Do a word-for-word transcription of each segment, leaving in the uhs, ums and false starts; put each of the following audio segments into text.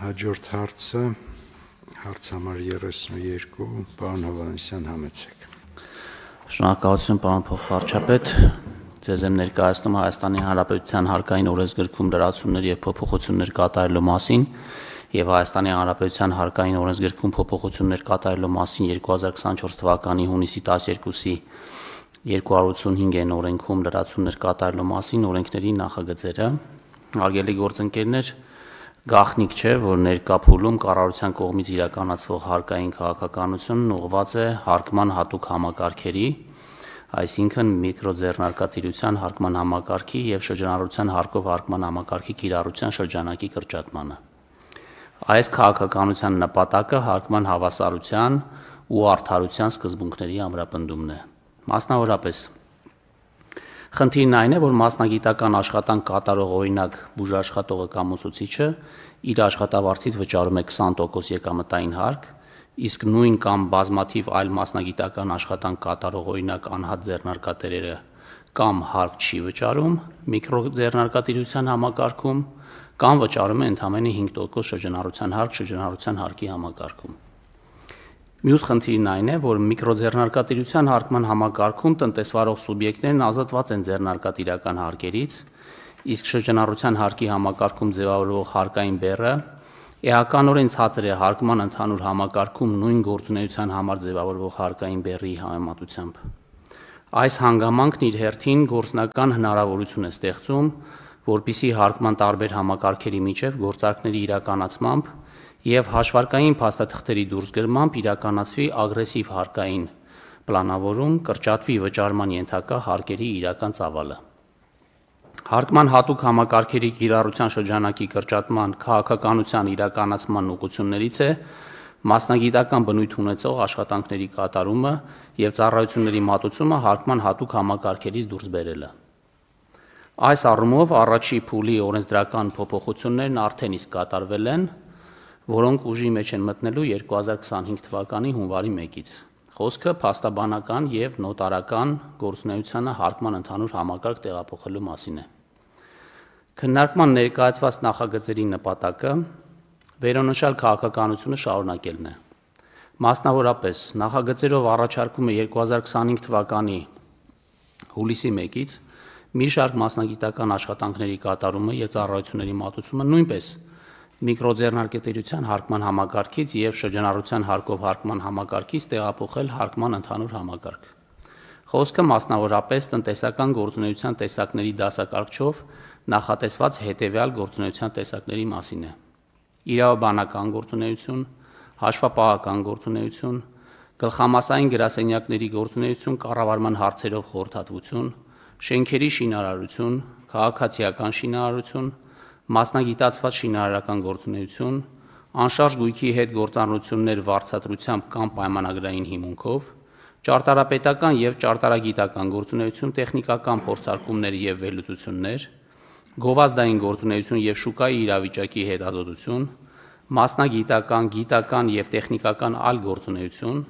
Հաջորդ հարցը հարց համար երեսունուերկու պարոն Հովհաննիսյան համեցեք։ Շնորհակալություն պարոն փոխվարչապետ, ձեզ եմ ներկայացնում Հայաստանի Հանրապետության հարկային օրենսգրքում լրացումներ եւ փոփոխություններ կատարելու մասին եւ Հայաստանի Հանրապետության հարկային օրենսգրքում փոփոխություններ կատարելու մասին երկու հազար քսանչորս թվականի հունիսի տասներկուսի երկու հարյուր ութսունհինգ են օրենքում լրացումներ կատարելու մասին օրենքների նախագծերը։ Հարգելի գործընկերներ, գաղտնիք չէ, որ ներկա փուլում կառավարության կողմից իրականացվող հարկային քաղաքականությունն ուղղված է հարկման հատուկ համակարգերի, այսինքն միկրոձեռնարկատիրության հարկման համակարգի եւ շրջանառության հարկով հարկման համակարգի կիրառության շրջանակի կրճատմանը։ Այս քաղաքականության նպատակը հարկման հավասարության ու արդարության սկզբունքների ամրապնդումն է։ Մասնավորապես, խնդիրն այն է, որ մասնագիտական աշխատանք կատարող օրինակ բուժաշխատողը կամ ուսուցիչը իր աշխատավարձից վճարում է քսան տոկոս եկամտային հարկ, իսկ նույն կամ բազմաթիվ այլ մասնագիտական աշխատանք կատարող օրինակ անհատ ձեռնարկատերերը կամ հարկ չի վճարում միկրոձեռնարկատիրության համակարգում, կամ վճարում է ընդամենը հինգ տոկոս շրջանառության հարկ շրջանառության հարկի համակարգում։ Մյուս խնդիրն այն է, որ միկրոձեռնարկատիրության հարկման համակարգում տնտեսվարող սուբյեկտներն ազատված են ձեռնարկատիրական հարկերից, իսկ շրջանառության հարկի համակարգում ձևավորվող հարկային բեռը էականորեն ցածր է հարկման ընդհանուր համակարգում նույն գործունեության համար ձևավորվող հարկային բեռի համեմատությամբ։ Այս հանգամանքն իր հերթին գործնական հնարավորություն է ստեղծում, որպեսզի հարկման տարբեր համակարգերի միջև գործարքների իրականացմամբ եւ հաշվարկային փաստաթղթերի դուրսգրմամբ իրականացվի ագրեսիվ հարկային պլանավորում, կրճատվի վճարման ենթակա հարկերի իրական ծավալը։ Հարկման հատուկ համակարգերի կիրառության շրջանակի կրճատման քաղաքականության իրականացման ուղղություններից է մասնագիտական բնույթ ունեցող աշխատանքների կատարումը եւ ծառայությունների մատուցումը հարկման հատուկ համակարգերից դուրս բերելը։ Այս առումով առաջի փուլի օրենսդրական փոփոխություններն արդեն իսկ կատարվել են, որոնք ուժի մեջ են մտնելու երկու հազար քսանհինգ թվականի հունվարի մեկից։ Խոսքը փաստաբանական եւ նոտարական գործունեությանը հարկման ընդհանուր համակարգ տեղափոխելու մասին է։ Քննարկման ներկայացված նախագծերի նպատակը վերոնշյալ քաղաքականությունը շարունակելն է։ Մասնավորապես, նախագծերով առաջարկում է երկու հազար քսանհինգ թվականի հուլիսի մեկից մի շարք մասնագիտական աշխատանքների կատարումը եւ ծառայությունների մատուցումը նույնպես միկրոձեռնարկատիրության հարկման համակարգից եւ շրջանառության հարկով հարկման համակարգից տեղափոխել հարկման ընդհանուր համակարգ։ Խոսքը մասնավորապես տնտեսական գործունեության տեսակների դասակարգչով նախատեսված հետեւյալ գործունեության տեսակների մասին է. իրավաբանական գործունեություն, հաշվապահական գործունեություն, գլխամասային գրասենյակների գործունեություն կառավարման հարցերով խորհրդատվություն, շենքերի շինարարություն, քաղաքացիական շինարարություն, մասնագիտացված շինարարական գործունեություն, անշարժ գույքի հետ գործառնություններ վարձատրությամբ կամ պայմանագրային հիմունքով, ճարտարապետական եւ ճարտարագիտական գործունեություն, տեխնիկական փորձարկումներ եւ վերլուծություններ, գովազդային գործունեություն եւ շուկայի իրավիճակի հետազոտություն, մասնագիտական, գիտական եւ տեխնիկական այլ գործունեություն,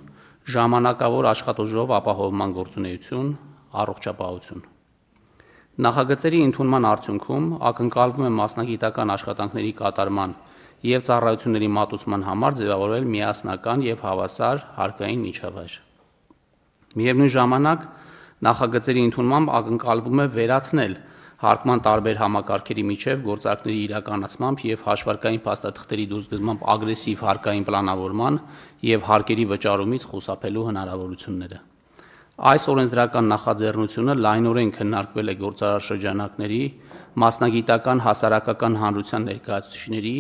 ժամանակավոր աշխատուժով ապահովման գործունեություն, առողջապահություն։ Նախագծերի ընդունման արդյունքում ակնկալվում է մասնագիտական աշխատանքների կատարման եւ ծառայությունների մատուցման համար ձևավորել միասնական եւ հավասար հարկային միջավայր։ Միևնույն ժամանակ նախագծերի ընդունմամբ ակնկալվում է վերացնել հարկման տարբեր համակարգերի միջև գործարքների իրականացմամբ եւ հաշվարկային փաստաթղթերի դուրսգրմամբ ագրեսիվ հարկային պլանավորման եւ հարկերի վճարումից խուսափելու հնարավորությունները։ Այս օրենսդրական նախաձեռնությունը լայնորեն քննարկվել է գործարար շրջանակների, մասնագիտական հասարակական հանրության ներկայացուցիչների,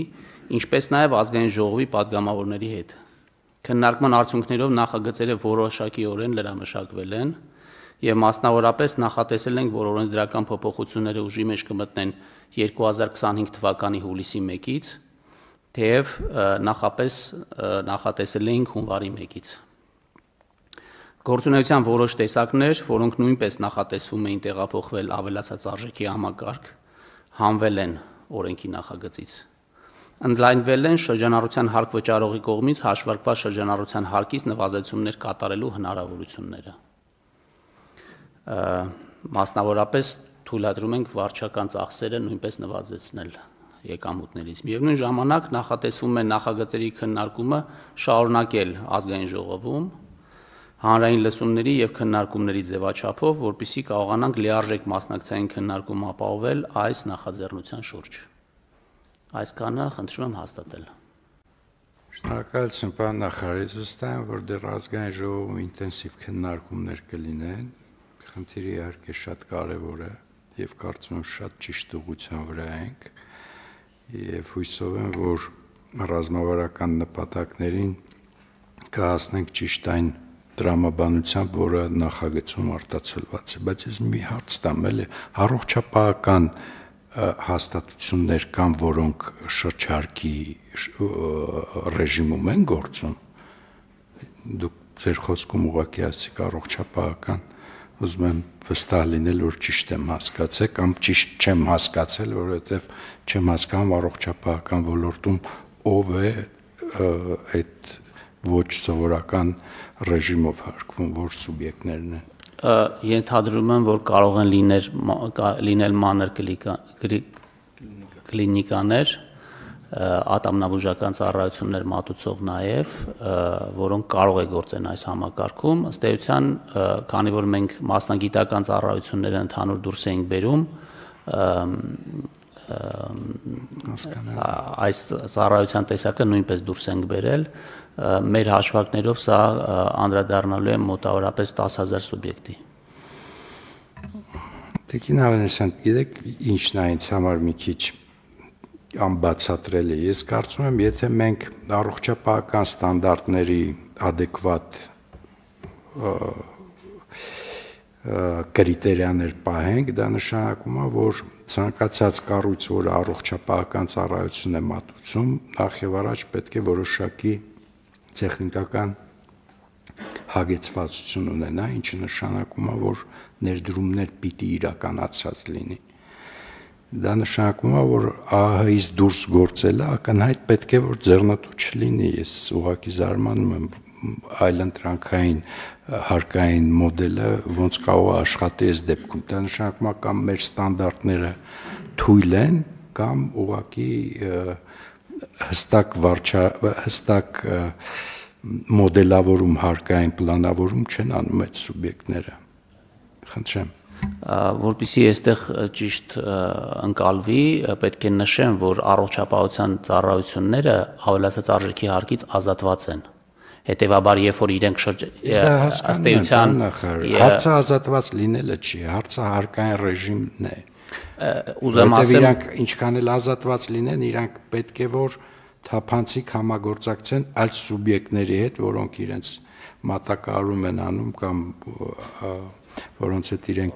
ինչպես նաև ազգային ժողովի падգամավորների հետ։ Քննարկման արդյունքներով նախագծերը որոշակիորեն լրամշակվել են եւ մասնավորապես նախատեսել ենք, որ օրենսդրական փոփոխությունները ուժի մեջ կմտնեն երկու հազար քսանհինգ թվականի հուլիսի մեկից, թեև նախապես նախատեսել էինք հունվարի մեկից։ Գործունեության որոշ տեսակներ, որոնք նույնպես նախատեսվում էին տեղափոխվել ավելացած արժեքի համակարգ, հանվել են օրենքի նախագծից։ Ընդլայնվել են շրջանառության հարկ վճարողի կողմից հաշվարկված շրջանառության հարկից նվազեցումներ կատարելու հնարավորությունները։ Մասնավորապես թույլատրում ենք վարչական ծախսերը նույնպես նվազեցնել եկամուտներից։ Միևնույն ժամանակ նախատեսվում է նախագծերի քննարկումը շարունակել ազգային ժողովում հանրային լսումների եւ քննարկումների ձևաչափով, որպեսզի կարողանանք լիարժեք մասնակցային քննարկում ապահովել այս նախաձեռնության շուրջ։ Այսքանը խնդրում եմ հաստատել։ Շնորհակալություն, պարոն նախարար, վստահ եմ, որ դեռ ազգային ժողովում ինտենսիվ քննարկումներ կլինեն։ Խնդիրը իհարկե շատ կարևոր է եւ կարծում եմ շատ ճիշտ ուղղության վրա ենք եւ հույսով եմ, որ ռազմավարական նպատակներին կհասնենք ճիշտ այն տրամաբանությամբ, որը նախագծում արտացոլված է, բայց ես մի հարց տամ, էլի առողջապահական հաստատություններ կան, որոնք շրջարկի ռեժիմում են գործում։ Դուք ձեր խոսքում ուղղակի ասիք առողջապահական, ուզում եմ վստահ լինել, որ ճիշտ եմ հասկացել, կամ ճիշտ չեմ հասկացել, որովհետև չեմ հասկանում առողջապահական ոլորտում ով է այդ ոչ սովորական ռեժիմով հարկվում, որ սուբյեկտներն են։ Ենթադրում եմ, որ կարող են լինել լինել մանր կլինիկաներ, ատամնաբուժական ծառայություններ մատուցող նաև, որոնք կարող է գործեն այս համակարգում, ըստ էության, քանի որ մենք մասնագիտական ծառայությունները ընդհանուր դուրս ենք բերում, այս ծառայության տեսակը նույնպես դուրս ենք բերել, մեր հաշվարկներով սա անդրադառնալու է մոտավորապես տասը հազար սուբյեկտի։ Տիկին Ավանեսյան, գիտեք, ինչն է ինձ համար մի քիչ անբացատրելի։ Ես կարծում եմ, եթե մենք առողջապահական ստանդարտների adekvat կրիտերիաներ պահենք, դա նշանակում է, որ ցանկացած կառույց, որը առողջապահական ծառայություն է մատուցում, նախ եւ առաջ պետք է որոշակի տեխնիկական հագեցվածություն ունենա, ինչը նշանակում է, որ ներդրումներ պիտի իրականացած լինի։ Դա նշանակում է, որ ԱՀ-ից դուրս գործելը ակնհայտ պետք է որ ձեռնտու չլինի։ Ես ուղղակի զարմանում եմ այլընտրանքային հարկային մոդելը ոնց կարող է աշխատի այս դեպքում։ Դա նշանակում է կամ մեր ստանդարտները թույլ են, կամ ուղղակի հստակ վարչա հստակ մոդելավորում հարկային պլանավորում չեն անում այդ սուբյեկտները։ Խնդրեմ։ Որպեսզի այստեղ ճիշտ ընկալվի, պետք է նշեմ, որ առողջապահության ծառայությունները ավելացած արժեքի հարկից ազատված են։ Հետևաբար, երբ որ իրենք ըստ էության հարցը ազատված լինելը չի, հարցը հարկային ռեժիմն է։ Ուզում ասեմ, իրանք ինչքան էլ ազատված լինեն, իրանք պետք է որ թափանցիկ համագործակցեն այլ սուբյեկտների հետ, որոնք իրենց մատակարարում են անում կամ որոնց հետ իրենք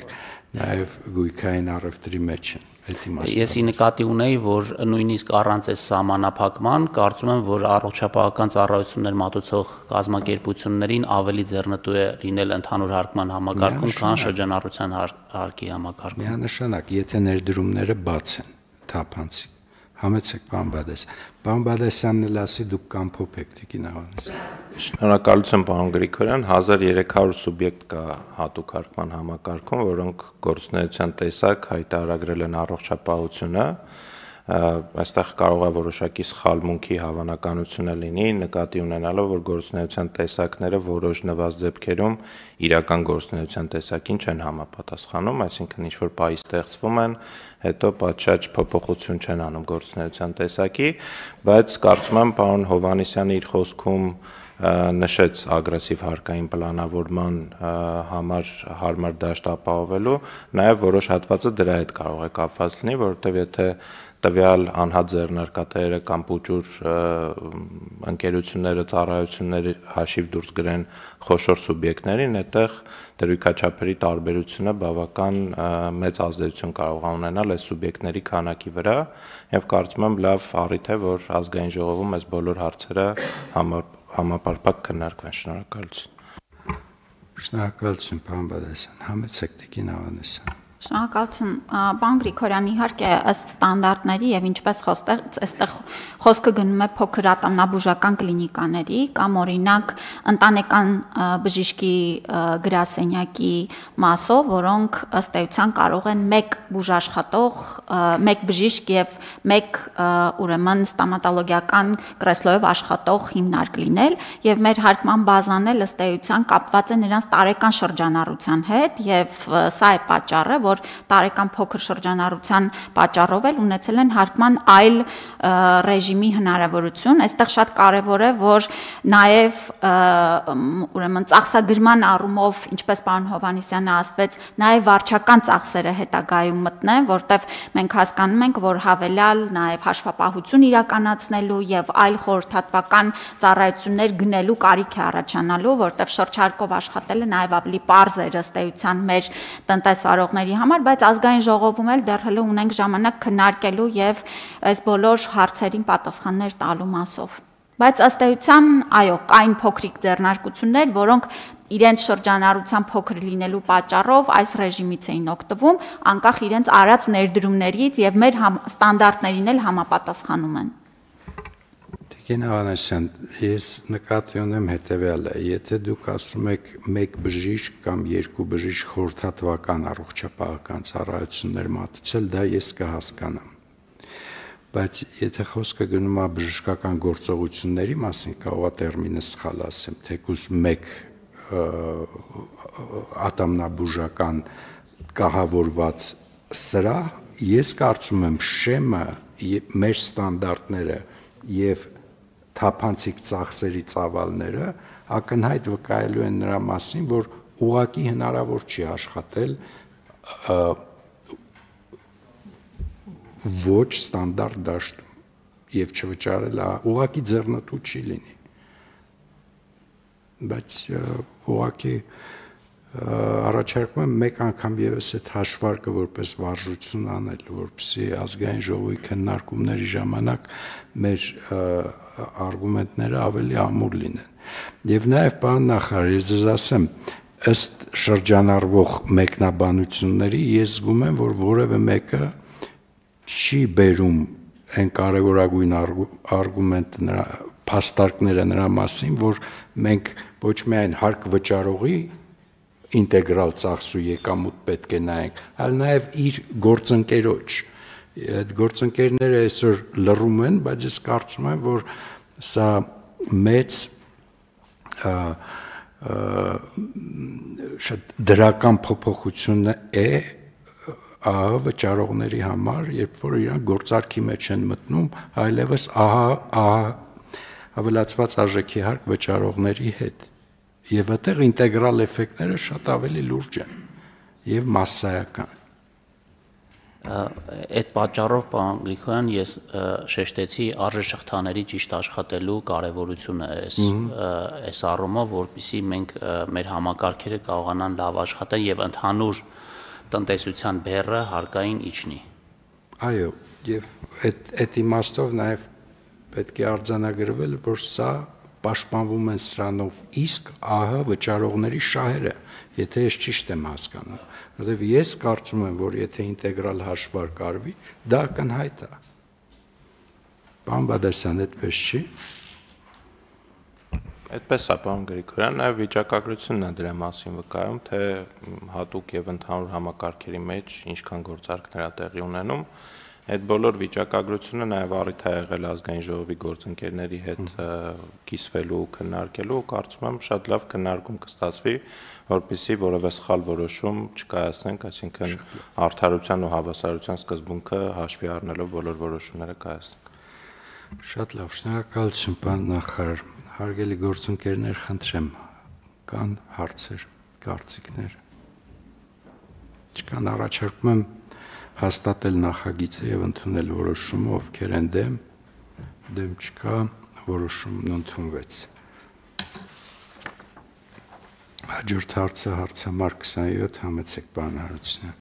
նաև գույքային առևտրի մեջ են։ Ես ի նկատի ունեի, որ նույնիսկ առանց այս սահմանափակման, կարծում եմ, որ առողջապահական ծառայություններ մատուցող կազմակերպություններին ավելի ձեռնտու է լինել ընդհանուր հարկման համակարգում, քան շրջանառության հարկի համակարգում։ Միանշանակ, եթե ներդրումները բաց են, թափանցիկ։ Համեցեք, պարոն Բադես։ Պարոն Բադեսյանն էլ ասի դուք կամփոփեք Տիկին Ավանեսյան։ Շնորհակալություն, պարոն Գրիգորյան, հազար երեք հարյուր սուբյեկտ կա հատուկ հարկման համակարգում, որոնք գործունեության տեսակ հայտարարագրել են առողջապահությունը, այստեղ կարող է որոշակի սխալմունքի հավանականությունը լինի, նկատի ունենալով, որ գործունեության տեսակները որոշ նվազ դեպքերում իրական գործունեության տեսակին չեն համապատասխանում, այսինքն ինչ-որ պահի ստեղծվում են, հետո պատշաճ փոփոխություն չեն անում գործունեության տեսակի, բայց կարծում եմ պարոն Հովհաննիսյանը իր խոսքում նշեց ագրեսիվ հարկային պլանավորման համար հարմար դաշտ ապահովելու, նաև որոշ հատվածը դրա հետ կարող է կապված լինի, որովհետև եթե տվյալ անհատ ձեռնարկատերը կամ փուճուր ընկերությունները ծառայությունների հաշիվ դուրս գրեն խոշոր սուբյեկտներին, այդտեղ դրույքաչափերի տարբերությունը բավական մեծ ազդեցություն կարող է ունենալ այս սուբյեկտների քանակի վրա, եւ կարծում եմ լավ առիթ է, որ ազգային ժողովում այս բոլոր հարցերը համապարփակ քննարկվեն։ Շնորհակալություն։ Շնորհակալություն, պարոն Բադասյան։ Համեցեք Տիկին Ավանեսյան։ Շնորհակալություն, պարոն Գրիգորյան, իհարկե ըստ ստանդարտների եւ ինչպես այստեղ խոսքը գնում է փոքր ատամնաբուժական կլինիկաների կամ օրինակ ընտանեկան բժիշկի գրասենյակի մասով, որոնք ըստ էության կարող են մեկ բուժաշխատող, մեկ բժիշկ եւ մեկ ուրեմն ստոմատոլոգիական կրեսլոյով աշխատող հիմնարկ լինել եւ մեր հարկման բազան էլ ըստ էության կապված է նրանց տարեկան շրջանառության հետ եւ սա է պատճառը, որ տարեկան փոքր շրջանառության պատճառով էլ ունեցել են հարկման այլ ռեժիմի հնարավորություն։ Այստեղ շատ կարևոր է, որ նաև ուրեմն ծախսագրման առումով, ինչպես պարոն Հովհաննիսյանը ասվեց, նաև վարչական ծախսերը հետագայում մտնեն, որտեղ մենք հասկանում ենք, որ հավելյալ նաև հաշվապահություն իրականացնելու եւ այլ խորհրդատվական ծառայություններ գնելու կարիք է առաջանալու, որտեղ շրջարկով աշխատելը նաև ավելի պարզ է ըստ էության մեր տնտեսվարողների համար, բայց ազգային ժողովում էլ դեռ հələ ունենք ժամանակ քննարկելու եւ այս բոլոր հարցերին պատասխաններ տալու մասով։ Բայց ըստ էության, այո, կային փոքրիկ ձեռնարկություններ, որոնք իրենց շրջանառության փոքր լինելու պատճառով այս ռեժիմից էին օգտվում, անկախ իրենց արած ներդրումներից եւ մեր ստանդարտներին էլ համապատասխանում են։ Տիկին Ավանեսյան, ես նկատի ունեմ հետևյալը, եթե դուք ասում եք մեկ բժիշկ կամ երկու բժիշկ խորհրդատվական առողջապահական ծառայություններ մատուցել, դա ես կհասկանամ։ Բայց եթե խոսքը գնում է բժշկական գործողությունների մասին, կարող է տերմինը սխալ ասեմ, թեկուզ մեկ ատամնաբուժական կահավորված սրահ, ես կարծում եմ շեմը մեր ստանդարտները եւ թափանցիկ ծախսերի ծավալները ակնհայտ վկայելու են նրա մասին, որ ուղղակի հնարավոր չի աշխատել ոչ ստանդարտ դաշտում եւ չվճարել, ուղղակի ձեռնտու չի լինի։ Բայց ուղղակի առաջարկում եմ մեկ անգամ եւս այդ հաշվարկը որպես վարժություն անել, որպեսզի ազգային ժողովի քննարկումների ժամանակ մեր արգումենտները ավելի ամուր լինեն։ Եվ նաեւ պարոն նախարար, ես ձեզ ասեմ, ըստ շրջանառվող մեկնաբանությունների ես զգում եմ, որ որևէ մեկը չի բերում այն կարևորագույն արգումենտը նրա փաստարկները նրա մասին, որ մենք ոչ միայն հարկ վճարողի ինտեգրալ ծախսու եկամուտ պետք է նայենք, այլ նաև իր գործընկերոջ։ Այդ գործընկերները այսօր լռում են, բայց ես կարծում եմ, որ սա մեծ շատ դրական փոփոխություն է ահա վճարողների համար, երբ որ իրանք գործարքի մեջ են մտնում, այլևս ահա ահա ավելացված արժեքի հարկ վճարողների հետ։ Եվ այդտեղ ինտեգրալ էֆեկտները շատ ավելի լուրջ են եւ մասսայական։ Այդ պատճառով, պարոն Գրիգորյան, ես շեշտեցի արժեշղթաների ճիշտ աշխատելու կարևորությունը այս այս առումով, որպեսզի մենք մեր համակարգերը կարողանան լավ աշխատել եւ ընդհանուր տնտեսության բեռը հարկային իջնի։ Այո, եւ այդ այդ իմաստով նաեւ պետք է արձանագրվել, որ սա պաշտպանվում են սրանով իսկ ահա վճարողների շահերը, եթե ես ճիշտ եմ հասկանում, որովհետև ես կարծում եմ, որ եթե ինտեգրալ հաշվարկ արվի, դա ակնհայտ է։ Պարոն Բադասյան, այդպես չի։ Այդպես է, պարոն Գրիգորյան, նաև վիճակագրությունն է դրա մասին վկայում, թե հատուկ եւ ընդհանուր համակարգերի մեջ ինչքան գործարքներ է տեղի ունենում։ Այդ բոլոր վիճակագրությունը նաև առիթ է եղել ազգային ժողովի գործընկերների հետ կիսվելու, քննարկելու, կարծում եմ շատ լավ քննարկում կստացվի, որպեսզի որևէ սխալ որոշում չկայացնենք, այսինքն արդարության ու հավասարության սկզբունքը հաշվի առնելով բոլոր որոշումները կայացնենք։ Շատ լավ, շնորհակալություն, պարոն նախարար։ Հարգելի գործընկերներ, խնդրեմ, կան հարցեր, կարծիքներ։ Չկան, առաջարկում եմ հաստատել նախագիծը եւ ընդունել որոշումը, ովքեր են դեմ, դեմ չկա, որոշումն ընդունվեց։ Հաջորդ հարցը հարցամարք քսանյոթ համեցեք, պարոն Հարությունյան։